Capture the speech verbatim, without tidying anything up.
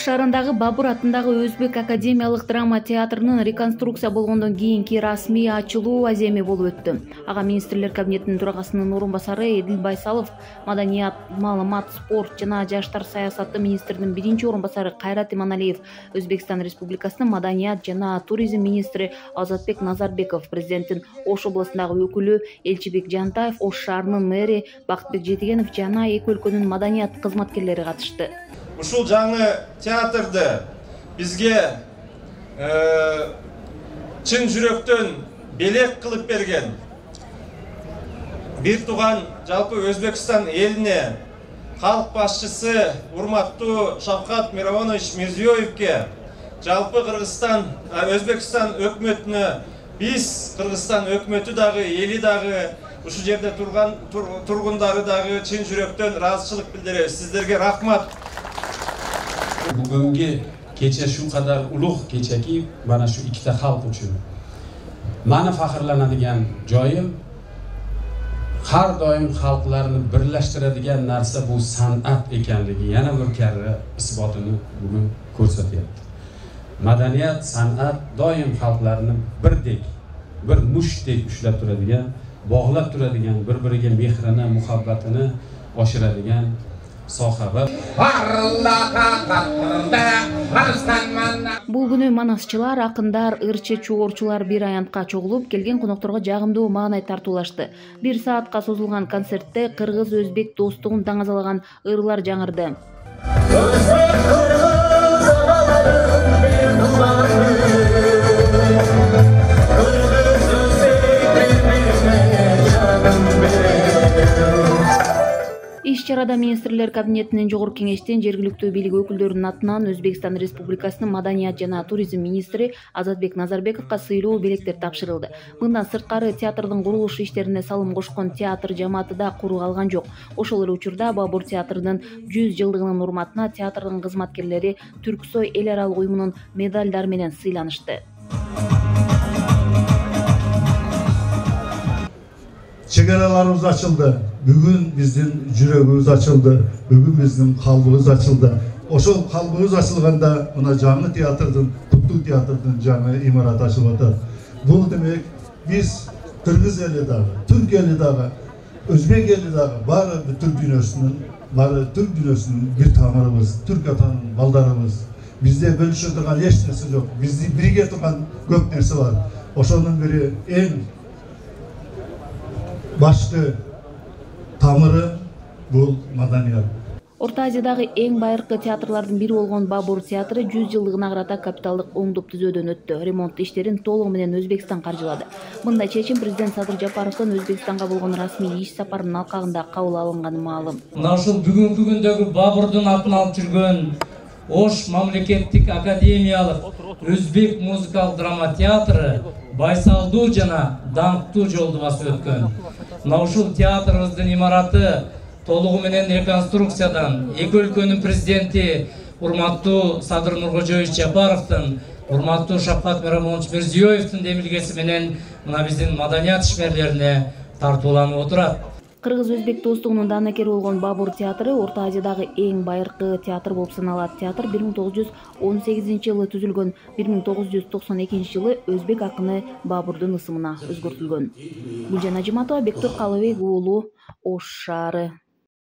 шаарындагы Бабур атындагы Өзбек академиялык драма театрынын реконструкция болгондон кийинки расмий ачылуу аземи болуп өттү. Ага министрлер кабинетинин төрагасынын орун басары Эдил Байсалов, маданият, маалымат, спорт жана жаштар саясаты министринин биринчи орун басары Кайрат Иманалиев, Өзбекстан Республикасынын маданият жана туризм министри Азатбек Назарбеков, президенттин Ош областындагы өкүлү Элчибек Жантаев, Ош шаарынын мэри Бактыбек Жетигенов жана эки өлкөнүн маданият кызматкерлери катышты. Ушул жаңы театрды бизге чын жүрөктөн белек кылып берген бир тууган жалпы Өзбекстан элине калк башчысы урматтуу Шавкат Миромонович Мирзиёевке, жалпы Кыргызстан, Өзбекстан өкмөтүнө, биз Кыргызстан өкмөтү дагы, эли дагы, ушул жерде турган тургундары дагы чын жүрөктөн ыраазычылык билдиребиз. Сиздерге рахмат. Бүгүнкү кече şu kadar улуг кечеки мана şu ikkita xalq үчүн мана фахрланадыган жоюм har doim xalqlarni birlashtiradigan narsa bu san'at ekanligi yana bir karra isbotini bugun ko'rsatyapti. Madaniyat, san'at doim xalqlarni birdek, bir mushtdek ushlab turadigan, bog'lab turadigan, bir-biriga mehrini, muhabbatini oshiradigan soha. Бул күнү манасчылар, акындар, ырчы чугорчулар бир аянтка чогулуп, келген конокторго жагымдуу маанай тартуулашты. Бир саатка созулган концертте кыргыз-өзбек достугун таңазалаган ырлар жаңырды. Иш-чарада министрлер кабинетинин жогорку кеңештин жергиликтүү бийлик өкүлдөрүнүн атынан Өзбекстан Республикасынын маданият жана туризм министри Азатбек Назарбековго сыйлуу белектер тапшырылды. Мындан сырткары театрдын курулуш иштерине салым кошкон театр жамааты да куру калган жок. Ошол эле учурда Бабур театрынын жүз жылдыгынын урматына театрдын кызматкерлери Түрксой эл аралык уюмунун медалдары менен сыйланышты. Чегараларыбыз ачылды. Бүгүн биздин жүрөгүбүз ачылды. Бүгүн биздин калбыбыз ачылды. Ошол калбыбыз ачылганда мына жаңы театрдын, Куттуу театрдын жаңы имараты ачылып атат. Бул демек биз кыргыз эли дагы, түрк эли дагы, өзбек эли дагы баары түрк дүйнөсүнүн, баары түрк дүйнөсүнүн бир тамырыбыз, түрк атанын балдарыбыз. Бизде бөлүшө турган эч нерсе жок. Бизди бирге турган көп нерсе бар. Ошонун бири эң башкы тамыры бул маданият. Орто Азиядагы эң байыркы театрлардын бири болгон Бабур театры жүз жылдыгына карата капиталдык оңдоп түзөөдөн өттү. Ремонт иштерин толугу менен Өзбекстан каржылады. Мындай чечим президент Садыр Жапаровдун Өзбекстанга болгон расмий иш сапарынын алкагында кабыл алынганы маалым. Мына ушул бүгүнкү күндөгү Бабурдун атын алып жүргөн Ош мамлекеттик академиялык Өзбек музыкалык драма театры байсалдуу жана даңктуу жолду басып өткөн. Мына ушул театрыбыздын имараты толугу менен реконструкциядан эки өлкөнүн президенти урматтуу Садыр Нуркожоевич Жапаровдун, урматтуу Шавкат Миромонович Мирзиёевдин демилгеси менен мына биздин маданият ишмерлерине тартууланып отурат. Кыргыз-өзбек достугунун даанакери болгон Бабур театры Орто Азиядагы эң байыркы театр болуп саналат. Театр бир миң тогуз жүз он сегизинчи жылы түзүлгөн, бир миң тогуз жүз токсон экинчи жылы өзбек акыны Бабурдун ысымына өзгөртүлгөн. Гүлжан Ажиматова, Бектур Калыбек уулу, Ош шаары.